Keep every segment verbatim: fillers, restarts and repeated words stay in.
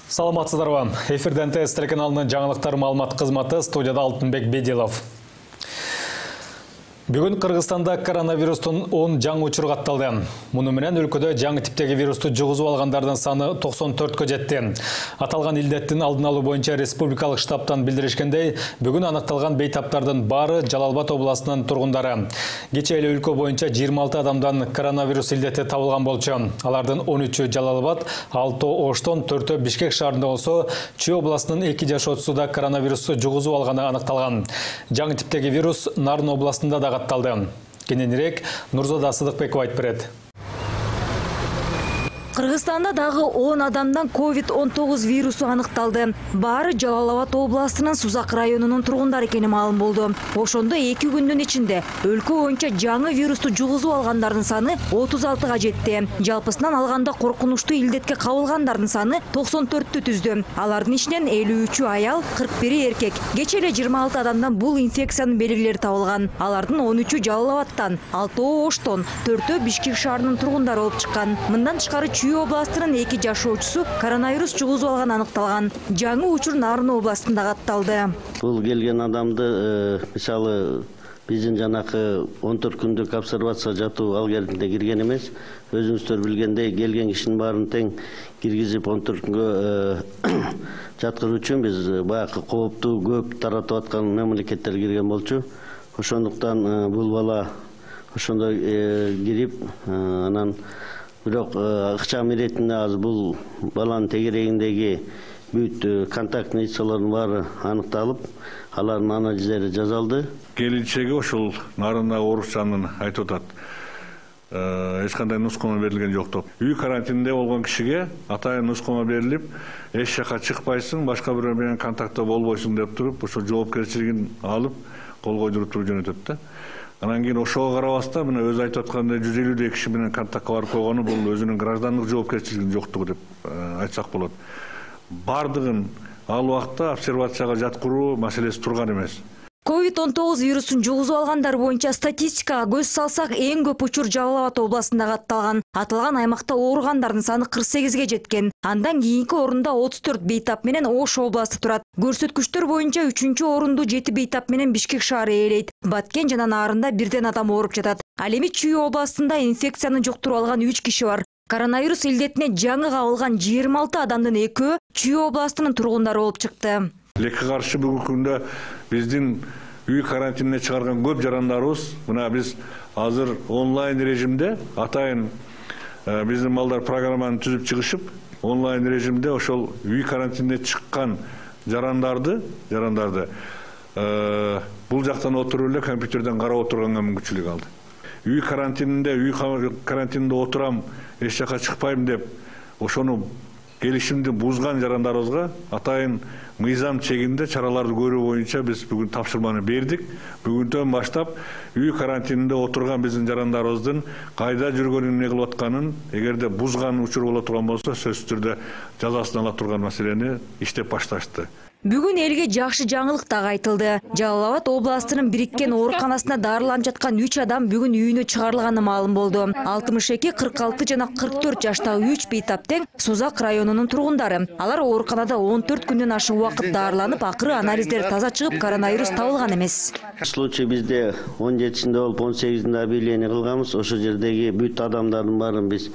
Саламатсыздарбы. Эфирден ТС телеканалынын жаңылыктар маалымат кызматы, студияда Алтынбек Бедилов. Бүгүн Кыргызстанда коронавирустун он жаңы учуру катталды. Муну менен өлкөдө жаңы типтеги вирусту жугузуп алгандардын саны токсон төрткө жетти. Аталган илдеттин алдын алуу боюнча республикалык штабтан билдиришкендей, бүгүн аныкталган бейтаптардын баары Жалал Абад областынын тургундары. Кечээ эле өлкө боюнча жыйырма алты адамдан коронавирус илдети табылган болчу. Алардын он үчү Жалал Абад, алтоо Оштон, төртөө Бишкек шаарында болсо, Чүй областынын эки жашоочусу да коронавирусту жугузуп алганы аныкталган. Жаңы типтеги вирус Нарын областында да катталды. Кененирээк Нурзада Сыдыкбекова айтып берет. Кыргызстанда дагы он адамдан ковид он тогуз вирусу аныкталды. Баары Жалал Абад областынын Сузак районунун тургундары экени маалым болду. Ошондо эки күндүн ичинде өлкө боюнча жаңы вирусту жугузуп алгандардын саны отуз алтыга жетти. Жалпысынан алганда коркунучтуу илдетке кабылгандардын саны токсон төрттү түздү. Алардын ичинен элүү үчү аял, кырк бири эркек. Кечээ эле жыйырма алты адамдан бул инфекциянын белгилери табылган. Алардын он үчү Жалал Абадтан, алтоо Оштон, төртөө Бишкек шаарынын тургундары болуп чыккан. Мындан тышкары Чүй областынын эки жашоочусу коронавирус жугузуп алган аныкталган. Жаңы учур Нарын областында катталды. Бул келген адамды мисалы биздин жанакы он төрт күндүк обсервация жатуу алгоритмине кирген эмес. Өзүңүздөр билгендей, келген кишинин баарын тең киргизип он төрт күнгө жаткыруу үчүн биз баягы кооптуу көп таратып аткан мамлекеттер кирген болчу. Ошондуктан бул бала ошондой кирип, анан бирок ыкчам иретинде азыр бул баланын тегерегиндеги бүт контактный лицалардын баары аныкталып, алардын анализдери жасалды. Келинчеги ошол Нарында оорукчанын айтып атат. Эч кандай нускама берилген жок деп. Үй карантининде болгон кишиге атайын нускама берилип, эч жака чыкпайсың, башка бирөө менен контактта болбойсуң деп туруп, ошо жоопкерчилигин алып, кол койдуруп туруп жөнөтөт да. Анан кийин ошого карабастан мына өзү айтып аткандай жүз элүүдөй киши менен контактка барып койгону бул өзүнүн граждандык жоопкерчилигинин жоктугу деп айтсак болот. Бардыгын ал убакта обсервацияга жаткыруу маселеси турган эмес. ковид он тогуз вирусун жугузуп алгандар боюнча статистикага көз салсак, эң көп учур Жалал Абад областында катталган. Аталган аймакта ооругандардын саны кырк сегизге жеткен. Андан кийинки орунда отуз төрт бейтап менен Ош областы турат. Көрсөткүчтөр боюнча үчүнчү орунду жети бейтап менен Бишкек шаары ээлейт. Баткен жана Нарында бирден адам ооруп жатат. Ал эми Чүй областында инфекцияны жуктуруп алган үч киши бар. Коронавирус илдетине жаңы кабылган жыйырма алты адамдын экөө Чүй областынын тургундары болуп чыкты. Лекке каршы бүгүнкү күндө биздин үй карантинине чыгарган көп жарандарыбыз, мына биз азыр онлайн режимде атайын биздин балдар программаны түзүп чыгышып, онлайн режимде ошол үй карантинине чыккан жарандарды, жарандарды бул жактан отуруп эле компьютерден карап отурганга мүмкүнчүлүк алды. Үй карантининде, үй карантининде отурам, эч жака чыкпайм деп, ошону келишимди бузган жарандарыбызга атайын мыйзам чегинде чараларды көрүү боюнча биз бүгүн тапшырманы бердик. Бүгүндөн баштап үй карантининде отурган биздин жарандарыбыздын кайда жүргөнүн, эмне кылып атканын, эгерде бузган учур боло турган болсо, сөзсүз түрдө жазасын ала турган маселени иштеп башташты. Бүгүн элге жакшы жаңылык дагы айтылды. Жалал Абад областынын бириккен ооруканасына дарыланып жаткан үч адам бүгүн үйүнө чыгарылганы маалым болду. алтымыш эки, кырк алты жана кырк төрт жаштагы үч бейтап тең Сузак районунун тургундары. Алар ооруканада он төрт күндөн ашык убакыт дарыланып, акыры анализдер таза чыгып, коронавирус табылган эмес. Случай бизде он жетисинде болуп, он сегизинде объявление кылганбыз. Ошо жердеги бүт адамдардын баарын биз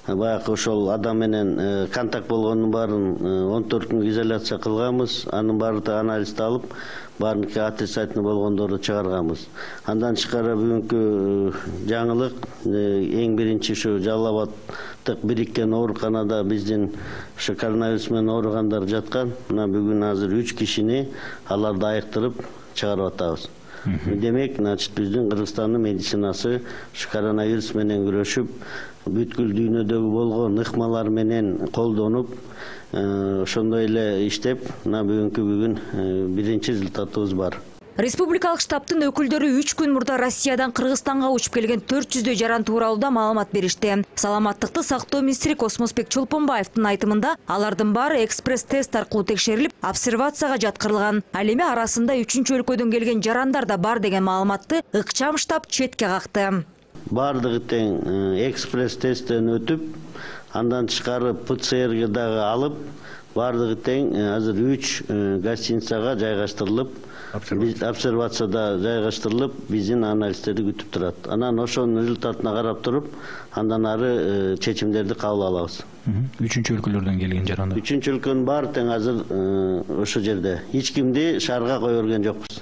баягы ошол адам менен контакт болгондун баарын он төрт күн изоляция кылганбыз. Анын баары анализди алып, баарыныкы отрицательный болгондорду чыгарганбыз. Андан тышкары бүгүнкү жаңылык эң биринчи ушу Жалал Абадтык бириккен ооруканада биздин ушу коронавирус менен ооругандар жаткан. Мына бүгүн азыр үч кишини аларды айыктырып чыгарып атабыз. Демек, значит, биздин Кыргызстандын медицинасы ушу коронавирус менен күрөшүп, бүткүл дүйнөдөгү болгон ыкмалар менен колдонуп, ошондой эле иштеп, мына бүгүнкү бүгүн биринчи результатыбыз бар. Республикалык штабтын өкүлдөрү үч күн мурда Россиядан Кыргызстанга учуп келген төрт жүздөй жаран тууралуу маалымат беришти. Саламаттыкты сактоо министри Космосбек Чолпонбаевдин айтымында, алардын баары экспресс-тест аркылуу текшерилип, обсервацияга жаткырылган. Ал эми арасында үчүнчү өлкөдөн келген жарандар да бар деген маалыматты ыкчам штаб четке какты. баардыгы тең экспресс тесттен өтүп, андан тышкары ПЦРге дагы алып, баардыгы тең азыр үч гостиницага жайгаштырылып, обсервацияда жайгаштырылып, биздин анализдерди күтүп турат. Анан ошонун результатына карап туруп, андан ары чечимдерди кабыл алабыз. Үчүнчү өлкөлөрдөн келген жарандар. Үчүнчү өлкөнүн баары тең азыр ошо жерде. Эч кимди шаарга кое берген жокпуз.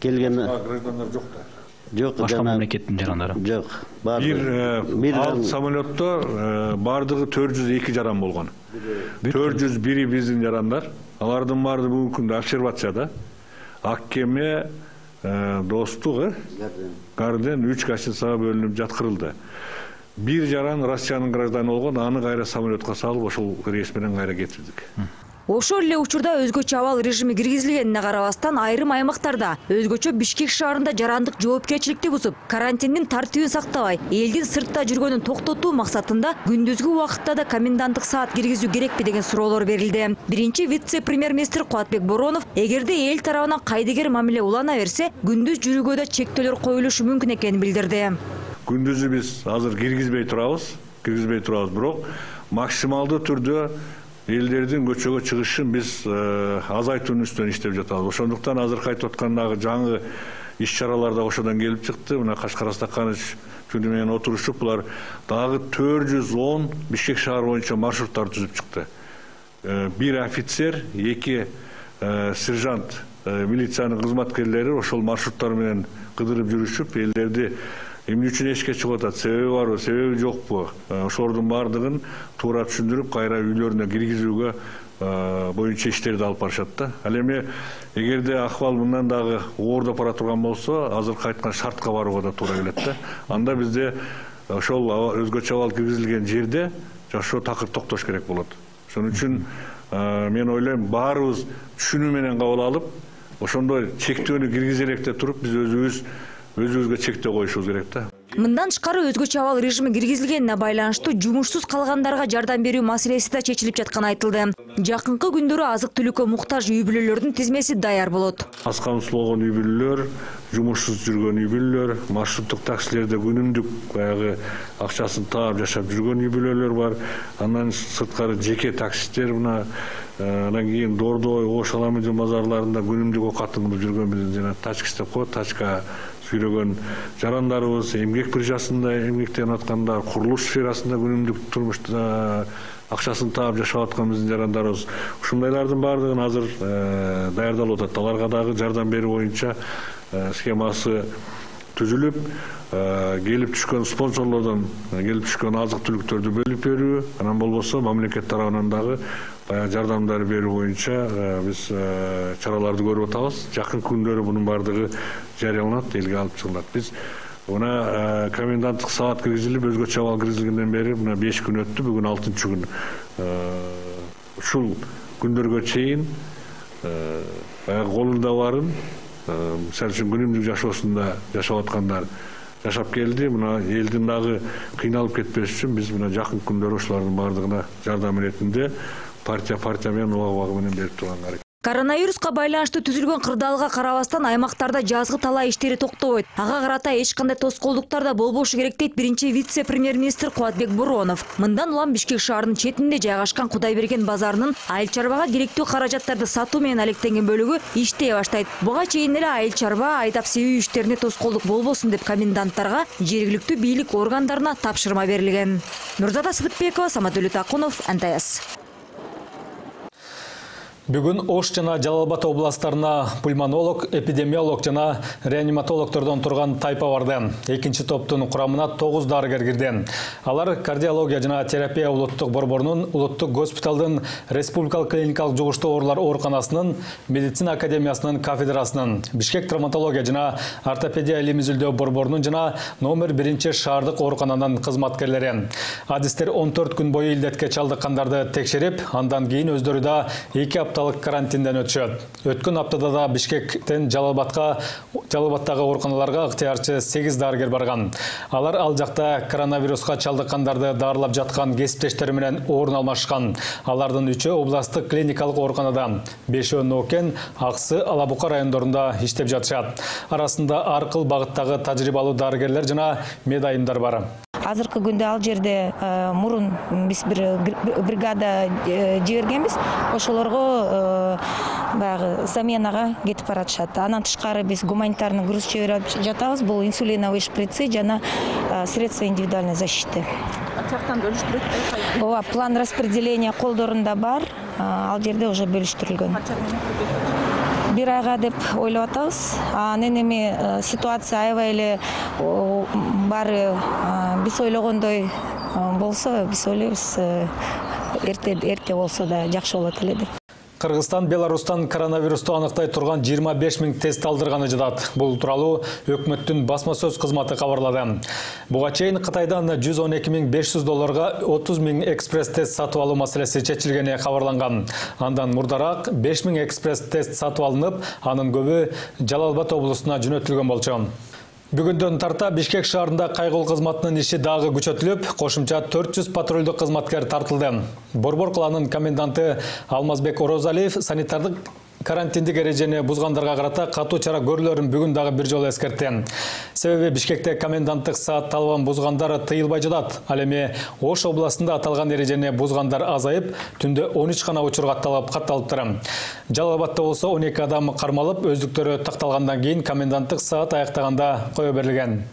Келген граждандар жок да. Жок, башка мамлекеттин жарандары. Жок. Бир ал самолетто баардыгы төрт жүз эки жаран болгон. төрт жүз бiri биздин жарандар. Алардын баары бүгүнкү күндө обсервацияда. Ак кеме, Достук, Гарден үч гостиницага бөлүнүп жаткырылды. Бир жаран Россиянын гражданы болгон, аны кайра самолетко салып, ошол рейс менен кайра кетирдик. Ошол эле учурда өзгөчө абал режими киргизилгенине карабастан айрым аймактарда, өзгөчө Бишкек шаарында жарандык жоопкерчиликти бузуп, карантиндин тартибин сактабай, элдин сыртта жүргөнүн токтотуу максатында күндүзгү убакытта да коменданттык саат киргизүү керекпи деген суроолор берилди. Биринчи вице-премьер-министр Кубатбек Боронов, эгерде эл тарабынан кайдыгер мамиле улана берсе, күндүз жүрүүгө да чектөөлөр коюлушу мүмкүн экенин билдирди. Күндүзү биз азыр киргизбей турабыз, киргизбей турабыз, бирок максималдуу түрдө элдердин көчөгө чыгышын биз азайтуунун үстүнөн иштеп жатабыз. Ошондуктан азыр айтып аткандагы жаңы иш-чаралар да ошодон келип чыкты. Мына Кашкар Астаканович түнү менен отурушуп, булар дагы төрт жүз он Бишкек шаары боюнча маршруттар түзүп чыкты. Бир офицер, эки сержант, милициянын кызматкерлери ошол маршруттар менен кыдырып жүрүшүп, элдерди эмне үчүн эшикке чыгып атат, себеби барбы, себеби жокпу, ошолордун баардыгын туура түшүндүрүп, кайра үйлөрүнө киргизүүгө боюнча иштерди алып барышат да. Ал эми эгерде акыбал мындан дагы оордоп бара турган болсо, азыркы айткан шартка барууга да туура келет да. Анда бизде ошол өзгөчө абал киргизилген жерде жашоо такыр токтош керек болот. Ошон үчүн мен ойлойм, баарыбыз түшүнүү менен кабыл алып, ошондой чектөөнү киргизе элек деп туруп, биз өзүбүз өзүбүзгө чектөө коюшубуз керек да. Мындан тышкары өзгөчө абал режими киргизилгенине байланыштуу жумушсуз калгандарга жардам берүү маселеси да чечилип жатканы айтылды. Жакынкы күндөрү азык-түлүккө муктаж үй бүлөлөрдүн тизмеси даяр болот. Аз камсыздалган үй бүлөлөр, жумушсуз жүргөн үй бүлөлөр, маршруттук таксилерде күнүмдүк баягы акчасын таап жашап жүргөн үй бүлөлөр бар. Андан сырткары жеке таксисттер, мына анан кийин Дордой, Ош Аламедин базарларында күнүмдүк оокатын кылып жүргөн биздин жана тачкис деп коет, тачка сүйрөгөн жарандарыбыз, эмгек биржасында эмгектенип аткандар, курулуш сферасында күнүмдүк турмушта акчасын таап жашап аткан биздин жарандарыбыз. Ушундайлардын баардыгын азыр даярдалып атат. Аларга дагы жардам берүү боюнча схемасы түзүлүп, келип түшкөн спонсорлордон келип түшкөн азык-түлүктөрдү бөлүп берүү, анан болбосо мамлекет тарабынан дагы баягы жардамдар берүү боюнча биз чараларды көрүп атабыз. Жакын күндөрү бунун баардыгы жарыяланат, элге алып чыгылат. Биз мына коменданттык саат киргизилип, өзгөчө абал киргизилгенден бери мына беш күн өттү, бүгүн алтынчы күн. Ушул күндөргө чейин баягы колунда барын, мисалы үчүн күнүмдүк жашоосунда жашап аткандар жашап келди. Мына элдин дагы кыйналып кетпеш үчүн биз мына жакын күндөрү ошолордун баардыгына жардам иретинде партия партия менен убак убагы менен берип турганга аракет. Коронавируска байланыштуу түзүлгөн кырдаалга карабастан аймактарда жазгы талаа иштери токтобойт. Ага карата эч кандай тоскоолдуктар да болбошу керек дейт биринчи вице-премьер-министр Кубатбек Боронов. Мындан улам Бишкек шаарынын четинде жайгашкан Кудайберген базарынын айыл чарбага керектүү каражаттарды сатуу менен алектенген бөлүгү иштей баштайт. Буга чейин эле айыл чарба айдап себүү иштерине тоскоолдук болбосун деп коменданттарга, жергиликтүү бийлик органдарына тапшырма берилген. Нурзада Сыдыкбекова, Самат Акунов, эн тэ эс. Бүгүн Ош жана Жалал Абад областарына пульмонолог, эпидемиолог жана реаниматологтордон турган тайпа барды. Экинчи топтун курамына тогуз дарыгер кирди. Алар кардиология жана терапия улуттук борборунун, улуттук госпиталдын, республикалык клиникалык жугуштуу оорулар ооруканасынын, медицина академиясынын кафедрасынын, Бишкек травматология жана ортопедия илим-изилдөө борборунун жана номер биринчи шаардык оорукананын кызматкерлери. Адистер он төрт күн бою илдетке чалдыккандарды текшерип, андан кийин өздөрү да эки апталык карантинден өтүшөт. Өткөн аптада да Бишкектен Жалалбатка, Жалалбаттагы ооруканаларга ыктыярчы сегиз дарыгер барган. Алар ал жакта коронавируска чалдыккандарды дарылап жаткан кесиптештери менен орун алмашкан. Алардын үчөө областтык клиникалык ооруканада, бешөө Нокен, Аксы, Алабука райондорунда иштеп жатышат. Арасында ар кыл багыттагы тажрыйбалуу дарыгерлер жана медайымдар бар. Азыркы күндө ал жерде мурун биз бир бригада жибергенбиз. Ошолорго баягы заменага кетип баратышат. Анан тышкары биз гуманитарный груз жиберип жатабыз. Бул инсулиновый шприцы жана средства индивидуальной защиты. Ачактан бөлүштүрөт. Ооба, план распределения колдорунда бар. Ал жерде уже бөлүштүрүлгөн. Бир айга деп ойлоп атабыз. Анан эми ситуация аябай эле баары биз ойлогондой болсо, биз ойлойбуз эрте эрте болсо да жакшы болот эле деп. Кыргызстан Беларустан коронавирусту аныктай турган жыйырма беш миң тест алдырганы жатат. Бул тууралуу өкмөттүн басма сөз кызматы кабарлады. Буга чейин Кытайдан жүз он эки миң беш жүз долларга отуз миң экспресс тест сатып алуу маселеси чечилгени кабарланган. Андан мурдараак беш миң экспресс тест сатып алынып, анын көбү Жалалбат облусуна жөнөтүлгөн болчу. Бүгүндөн тарта Бишкек шаарында кайгылуу кызматынын иши дагы күчөтүлүп, кошумча төрт жүз патрулдук кызматкер тартылды. Борбор калаанын коменданты Алмазбек Орозалиев санитардык карантиндик эрежени бузгандарга карата катуу чара көрүлөрүн бүгүн дагы бир жолу эскертти. Себеби Бишкекте коменданттык саат талабын бузгандар тыйылбай жатат. Ал эми Ош областында аталган эрежени бузгандар азайып, түндө он үч гана учур катталып катталыптыр. Жалалбатта болсо он эки адам кармалып, өздүктөрү такталгандан кийин коменданттык саат аяктаганда кое берилген.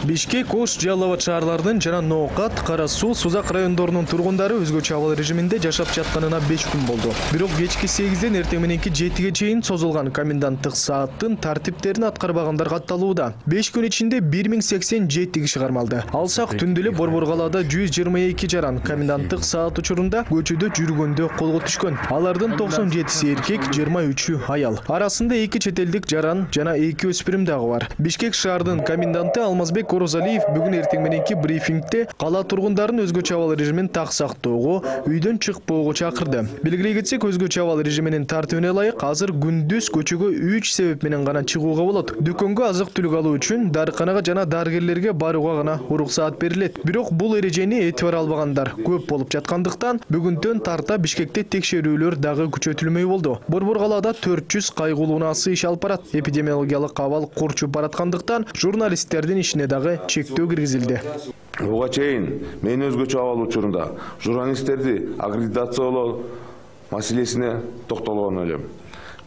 Бишкек, Ош, Жалалбат шаарларынын жана Ноокат, Кара Суу, Сузак райондорунун тургундары өзгөчө абал режиминде жашап жатканына беш күн болду. Бирок кечки сегизден эртең мененки жетиге чейин созулган коменданттык сааттын тартиптерин аткарбагандар катталууда. беш күн ичинде бир миң сексен жети киши кармалды. Алсак түндө эле Борбор калаада жүз жыйырма эки жаран коменданттык саат учурунда көчөдө жүргөндө колго түшкөн. Алардын токсон жетиси эркек, жыйырма үчү аял. Арасында эки чет элдик жаран жана эки өспүрүм дагы бар. Бишкек шаарынын коменданты Алмазбек Орозалиев бүгүн эртең мененки брифингде кала тургундарын өзгөчө абал режимин так сактоого, үйдөн чыкпоого чакырды. Белгилей кетсек, өзгөчө абал режиминин тартибине ылайык азыр күндүз көчөгө үч себеп менен гана чыгууга болот. Дүкөнгө азык-түлүк алуу үчүн, дарыканага жана дарыгерлерге барууга гана уруксаат берилет. Бирок бул эрежени этибар албагандар көп болуп жаткандыктан, бүгүндөн тарта Бишкекте текшерүүлөр дагы күчөтүлмөй болду. Борбор калаада төрт жүз кайгылуу наасы иш алып барат. Эпидемиологиялык абал курчуп бараткандыктан, журналисттердин ишине дагы чектөө киргизилди. Буга чейин мен өзгөчө абал учурунда журналисттерди аккредитациялоо маселесине токтолгон элем.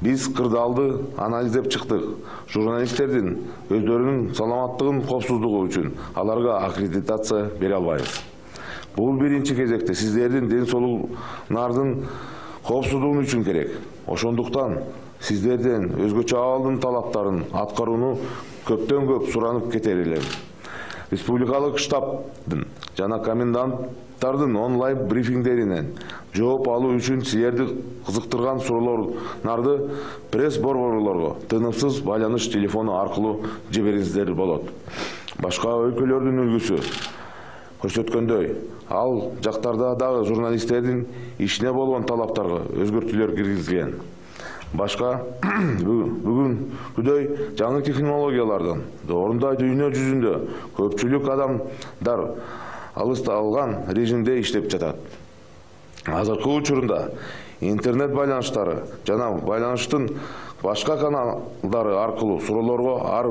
Биз кырдаалды анализдеп чыктык. Журналисттердин өздөрүнүн саламаттыгын, коопсуздугу үчүн аларга аккредитация бере албайбыз. Бул биринчи кезекте сиздердин ден соолугуңардын коопсуздугу үчүн керек. Ошондуктан сиздерден өзгөчө абалдын талаптарын аткарууну көптөн көп суранып кетер элем. Республикалык штабдын жана коменданттардын онлайн брифингдеринен жооп алуу үчүн силерди кызыктырган суроолорду пресс борборлорго тынымсыз байланыш телефону аркылуу жибериңиздер болот. Башка өлкөлөрдүн үлгүсү көрсөткөндөй, ал жактарда дагы журналисттердин ишине болгон талаптарга өзгөртүүлөр киргизилген. Башка бүгүнкүдөй жаңы технологиялардан орундай дүйнө жүзүндө көпчүлүк адамдар алысталган режимде иштеп жатат. Азыркы учурунда интернет байланыштары жана байланыштын башка каналдары аркылуу суроолорго ар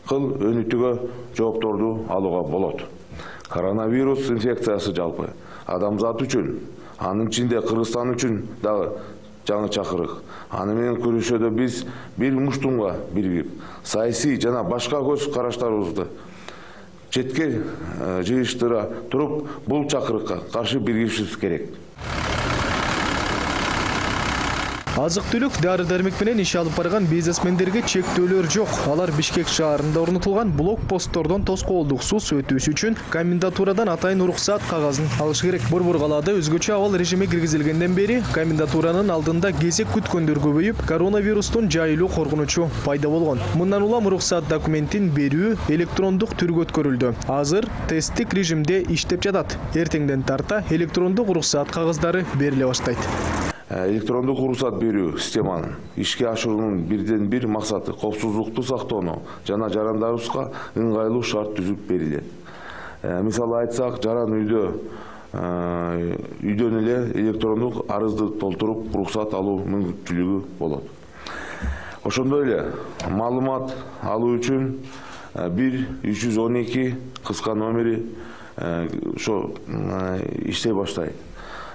кыл өнүтүүгө жоопторду алууга болот. Коронавирус инфекциясы жалпы адамзат үчүн, анын ичинде Кыргызстан үчүн дагы жаңы чакырык. Аны менен күрөшүүдө биз бир муштумга биригип, саясий жана башка көз караштарыбызды четке жыйыштыра туруп, бул чакырыкка каршы биригишибиз керек. Азык-түлүк, дары-дармек менен иш алып барган бизнесмендерге чектөөлөр жок. Алар Бишкек шаарында орнотулган блокпосттордон тоскоолдуксуз өтүүсү үчүн комендатурадан атайын уруксаат кагазын алышы керек. Борбор калаада өзгөчө абал режими киргизилгенден бери комендатуранын алдында кезек күткөндөр көбөйүп, коронавирустун жайылуу коркунучу пайда болгон. Мындан улам уруксаат документин берүү электрондук түргө өткөрүлдү. Азыр тесттик режимде иштеп жатат. Эртеңден тарта электрондук уруксаат кагаздары бериле баштайт. Электрондук уруксаат берүү системанын ишке ашыруунун бирден бир максаты коопсуздукту сактоону жана жарандарыбызга ыңгайлуу шарт түзүп берилет. Мисалы айтсак, жаран үйдө үйдөн эле электрондук арызды толтуруп уруксаат алуу мүмкүнчүлүгү болот. Ошондой эле маалымат алуу үчүн бир үч жүз он эки кыска номери ошо иштей баштайт.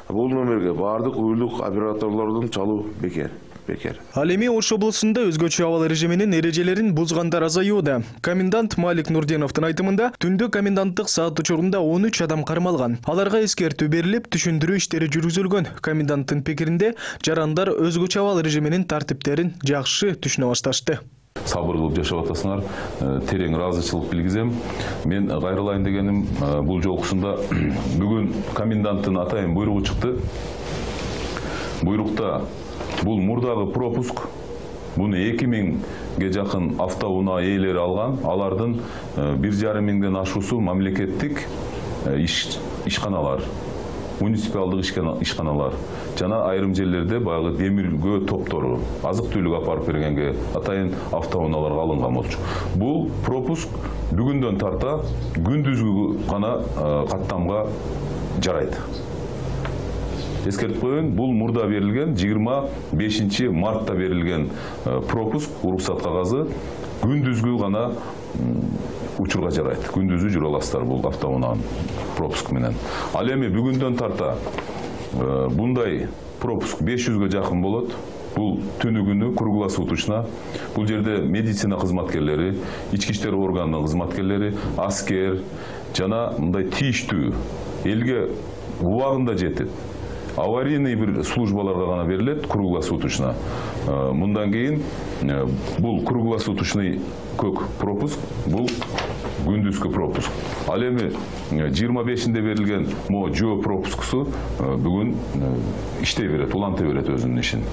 Бул номерге бардык уюлдук операторлордун чалуу бекер. Бекер. Ал эми Ош облусунда өзгөчө абал режиминин эрежелерин бузгандар азаюуда. Комендант Малик Нурденовдун айтымында, түндө коменданттык саат учурунда он үч адам кармалган. Аларга эскертүү берилип, түшүндүрүү иштери жүргүзүлгөн. Коменданттын пикиринде, жарандар өзгөчө абал режиминин тартиптерин жакшы түшүнө башташты. Сабыр кылып жашап атасыңар, терең ыраазычылык билгизем. Мен кайрылайын дегеним, бул жолкусунда бүгүн коменданттын атайын буйругу чыкты. Буйрукта бул мурдагы пропуск, буну эки миңге жакын автоунаа ээлери алган, алардын бир жарым миңден ашуусу мамлекеттик ишканалар, муниципалдык ишканалар жана айрым жерлерде баягы демиргөө топтору, азык-түлүк апарып бергенге атайын автоунааларга алынган болчу. Бул пропуск бүгүндөн тарта күндүзгү гана каттамга жарайт. Эскертип коеюн, бул мурда берилген жыйырма бешинчи мартта берилген пропуск, уруксаат кагазы күндүзгү гана учурга жарайт. Күндүзү жүрө аласыздар бул автоунаанын пропуск менен. Ал эми бүгүндөн тарта bunday пропуск беш жүзгө жакын болот. Бул түнү күнү круглосуточно. Бул жерде медицина кызматкерлери, ички иштер органынын кызматкерлери, аскер жана мындай тийиштүү элге убагында жетип, аварийный бир службаларга гана берилет круглосуточно. Мындан кийин бул круглосуточный көк пропуск, бул күндүзгү пропуск. Ал эми жыйырма бешинде берилген мо жөө пропускусу бүгүн иштей берет, уланта берет өзүнүн ишин.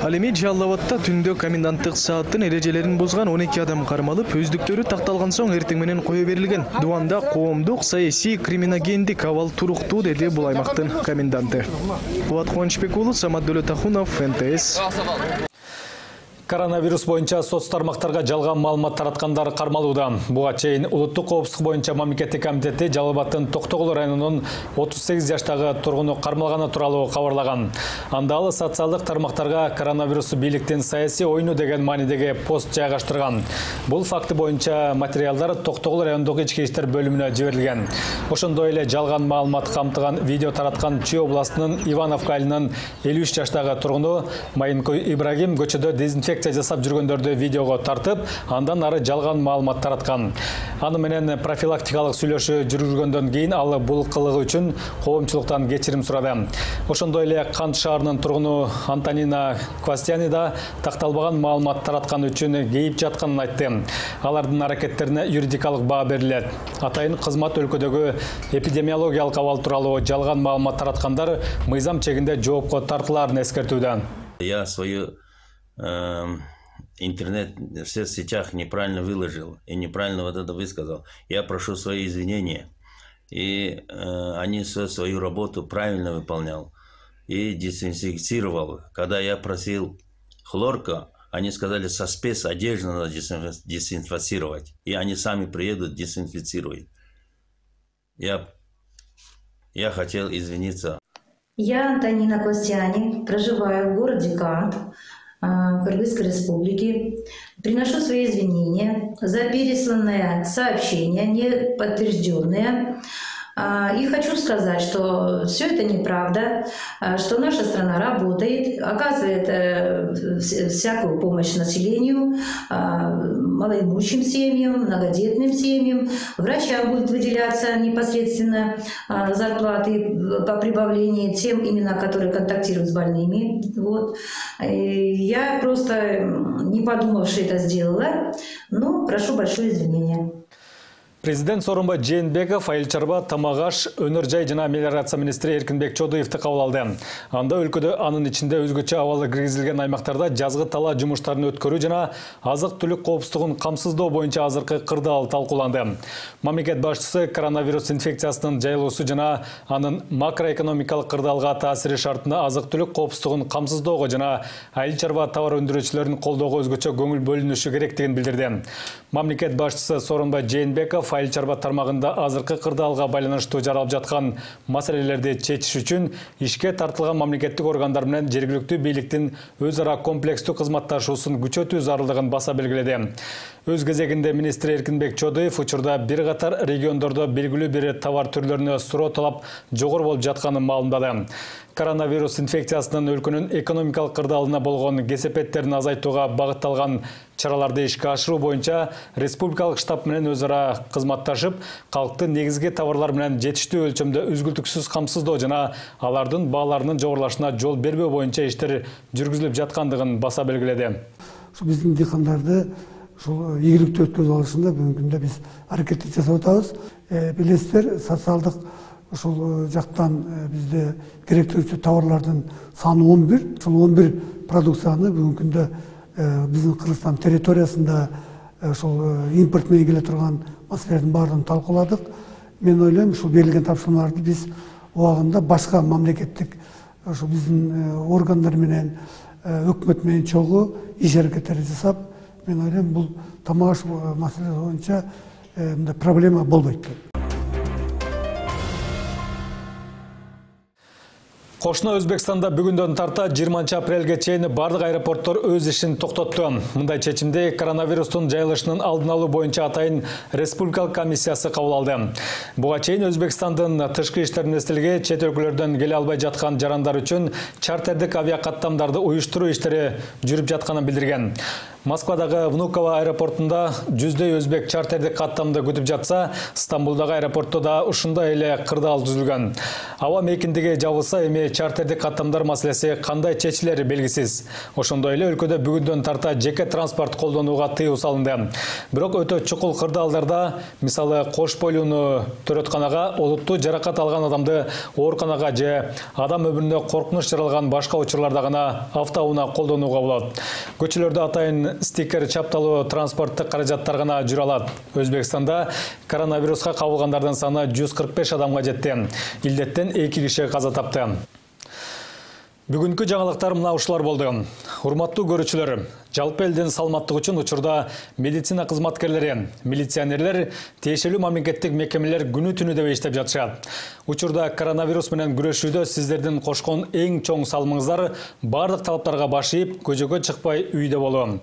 Ал эми Жалал Абадта түндө коменданттык сааттын эрежелерин бузган он эки адам кармалып, өздүктөрү такталган соң эртең менен кое берилген. Дубанда коомдук, саясий, криминогендик абал туруктуу, деди бул аймактын коменданты. Кубат Кубанычбек уулу, Самат Дөлөтахунов, эн тэ эс. Коронавирус боюнча соц тармактарга жалган маалымат тараткандар кармалууда. Буга чейин улуттук коопсуздук боюнча мамлекеттик комитети Жалал Абадтын Токтогул районунун отуз сегиз жаштагы тургуну кармалганы тууралуу кабарлаган. Анда ал социалдык тармактарга коронавирус бийликтин саясий ойну деген маанидеги пост жайгаштырган. Бул факты боюнча материалдар Токтогул райондук ички иштер бөлүмүнө жиберилген. Ошондой эле жалган маалымат камтыган видео тараткан Чүй областынын Ивановка айылынын элүү үч жаштагы тургуну Майынкой Ибрагим көчөдө дезинфекция жасап жүргөндөрдү видеого тартып, андан ары жалган маалымат тараткан. Аны менен профилактикалык сүйлөшүү жүргүзгөндөн кийин ал бул кылыгы үчүн коомчулуктан кечирим сурады. Ошондой эле Кант шаарынын тургуну Антонина Квастяни да такталбаган маалымат тараткан үчүн кейип жатканын айтты. Алардын аракеттерине юридикалык баа берилет. Атайын кызмат өлкөдөгү эпидемиологиялык абал тууралуу жалган маалымат тараткандар мыйзам чегинде жоопко тартылаарын эскертүүдө. Я свою интернет в соцсетях неправильно выложил и неправильно вот это высказал. Я прошу свои извинения. И э, они свою работу правильно выполнял и дезинфицировал. Когда я просил хлорка, они сказали, со спецодежды надо дезинфицировать. И они сами приедут, дезинфицируют. Я, я хотел извиниться. Я Антонина Квастяни, проживаю в городе Кант, Кыргызской Республики. Приношу свои извинения за пересланное сообщение, не подтвержденное И хочу сказать, что все это неправда, что наша страна работает, оказывает всякую помощь населению, малоимущим семьям, многодетным семьям. Врачам будет выделяться непосредственно зарплаты по прибавлению тем именно, которые контактируют с больными. Вот. Я просто, не подумавши, это сделала, но прошу большое извинения. Президент Сооронбай Жээнбеков Айыл чарба, тамак аш, өнөр жай жана мелиорация министри Эркинбек Чодуевди кабыл алды. Анда өлкөдө анын ичинде өзгөчө абалы киргизилген аймактарда жазгы талаа жумуштарын өткөрүү жана азык-түлүк коопсуздугун камсыздоо боюнча азыркы кырдаал талкууланды. Мамлекет башчысы коронавирус инфекциясынын жайылуусу жана анын макроэкономикалык кырдаалга таасири шартында азык-түлүк коопсуздугун камсыздоого жана айыл чарба товар өндүрүүчүлөрүн колдоого өзгөчө көңүл бөлүнүшү керектигин билдирди. Мамлекет башчысы Сооронбай Жээнбеков айыл чарба тармагында азыркы кырдаалга байланыштуу жаралып жаткан маселелерди чечиш үчүн ишке тартылган мамлекеттик органдар менен жергиликтүү бийликтин өз ара комплекстүү кызматташуусун күчөтүү зарылдыгын баса белгиледи. Өз кезегинде министр Эркинбек Чодуев учурда бир катар региондордо белгилүү бир товар түрлөрүнө суроо талап жогору болуп жатканын маалымдады. Коронавирус инфекциясынын өлкөнүн экономикалык кырдаалына болгон кесепеттерин азайтууга багытталган чараларды ишке ашыруу боюнча республикалык штаб менен өз ара кызматташып, калкты негизги товарлар менен жетиштүү өлчөмдө үзгүлтүксүз камсыздоо жана алардын бааларынын жогорулашына жол бербөө боюнча иштер жүргүзүлүп жаткандыгын баса белгиледи. Биздин дыйкандарды ушул ийгиликтүү өткөрүп алышында бүгүнкү күндө биз аракет жасап атабыз. Билесиздер, социалдык ушул жактан бизде керектүүчү товарлардын саны он бир. Ушул он бир продукцияны бүгүнкү күндө биздин Кыргызстан территориясында ушул импорт менен келе турган маселелердин баардыгын талкууладык. Мен ойлойм, ушул берилген тапшырмаларды биз убагында башка мамлекеттик ушул биздин органдар менен, өкмөт менен чогуу иш аракеттерди жасап, мен ойлойм, бул тамак аш маселеси боюнча проблема болбойт. Кошуна Өзбекстанда бүгүндөн тарта жыйырманчы апрелге чейин бардык аэропорттор өз ишин токтотту. Мындай чечимди коронавирустун жайылышынын алдын алуу боюнча атайын республикалык комиссиясы кабыл алды. Буга чейин Өзбекстандын тышкы иштер министрлиги чет өлкөлөрдөн келе албай жаткан жарандар үчүн чартердик авиакаттамдарды уюштуруу иштери жүрүп жатканын билдирген. Москвадагы Внуково аэропортунда жүздөй өзбек чартердик каттамды күтүп жатса, Стамбулдагы аэропортто да ушундай эле кырдаал түзүлгөн. Аба мейкиндиги жабылса, эми чартердик каттамдар маселеси кандай чечилери белгисиз. Ошондой эле өлкөдө бүгүндөн тарта жеке транспорт колдонууга тыюу салынды. Бирок өтө чукул кырдаалдарда, мисалы Кош бойлууну төрөтканага, олуттуу жаракат алган адамды ооруканага же адам өмүрүнө коркунуч жаралган башка учурларда гана автоунаа колдонууга болот. Көчөлөрдө атайын стикер чапталуу транспорттук каражаттар гана жүрө алат. Өзбекстанда коронавируска кабылгандардын саны жүз кырк беш адамга жетти. Илдеттен эки киши каза тапты. Бүгүнкү жаңылыктар мына ушулар болду. Урматтуу көрүүчүлөр, жалпы элдин саламаттыгы үчүн учурда медицина кызматкерлери, милиционерлер, тиешелүү мамлекеттик мекемелер күнү түнү деп иштеп жатышат. Учурда коронавирус менен күрөшүүдө сиздердин кошкон эң чоң салымыңыздар бардык талаптарга баш ийип, көчөгө чыкпай үйдө болуу.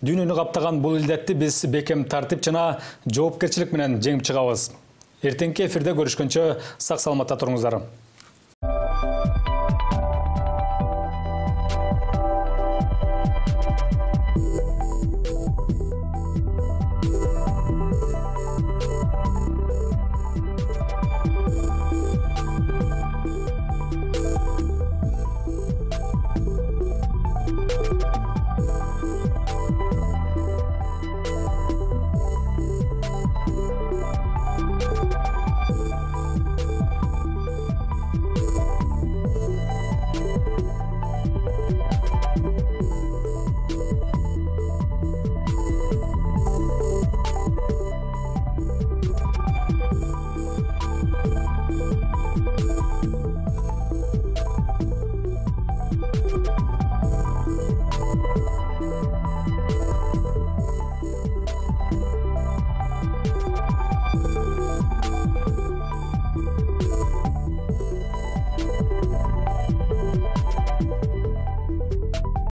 Дүйнөнү каптаган бул илдетти биз бекем тартип жана жоопкерчилик менен жеңип чыгабыз. Эртеңки эфирде көрүшкөнчө сак саламатта туруңуздар.